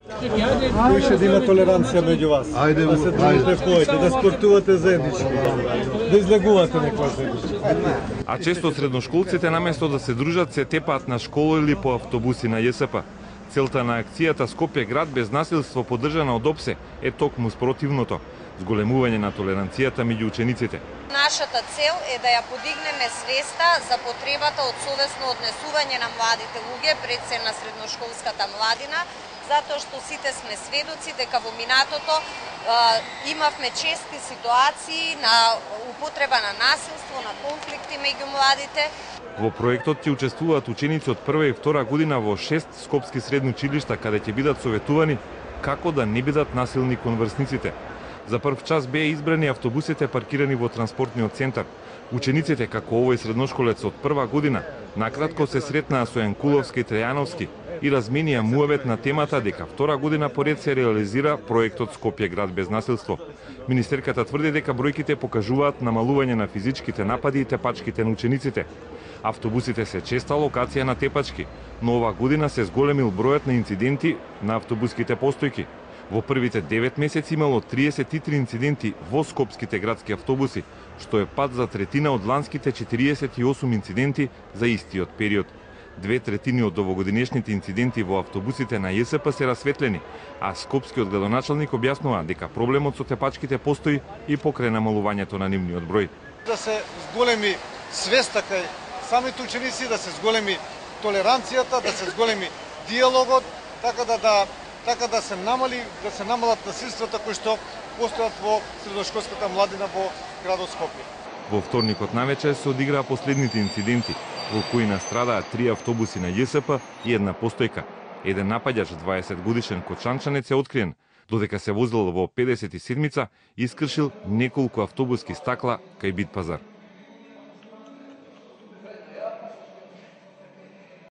Кој ќе да има толеранција меѓу вас? Да се дружите вкоите, да спортувате заеднички, да излегувате некоја заеднички. А често средношколците наместо да се дружат се тепаат на школа или по автобуси на ЈСП. Целта на акцијата Скопје град без насилство поддржана од ОПСЕ е токму спротивното – зголемување на толеранцијата меѓу учениците. Нашата цел е да ја подигнеме свеста за потребата од совесно однесување на младите луѓе, пред се на средношколската младина, затоа што сите сме сведоци дека во минатото имавме чести ситуации на употреба на насилство, на конфликти меѓу младите. Во проектот ќе учествуваат ученици од прва и втора година во 6 скопски средни училишта, каде ќе бидат советувани како да не бидат насилни кон врсниците. За прв час беа избрани автобусите паркирани во транспортниот центар. Учениците, како овој средношколец од прва година, накратко се сретнаа со Јанкуловски и Трајановски и разменија муавет на темата дека втора година поред се реализира проектот Скопје град без насилство. Министерката тврди дека бројките покажуваат намалување на физичките напади и тепачките на учениците. Автобусите се честа локација на тепачки, но ова година се зголемил бројот на инциденти на автобуските постојки. Во првите 9 месеци имало 33 инциденти во скопските градски автобуси, што е пад за третина од ланските 48 инциденти за истиот период. 2/3 од овогодинешните инциденти во автобусите на ЈСП се расветлени, а скопскиот градоначалник објаснува дека проблемот со тепачките постои и покрај намалувањето на нивниот број. Да се зголеми свеста кај самите ученици, да се зголеми толеранцијата, да се зголеми диалогот, така да се намалат насилствата кои што постојат во средношколската младина во градот Скопје. Во вторникот навечер се одиграа последните инциденти, во кои настрадаа 3 автобуси на ЈСП и една постојка. Еден напаѓач, 20 годишен кочанчанец, е откриен, додека се возил во 57-ца и искршил неколку автобуски стакла кај Битпазар.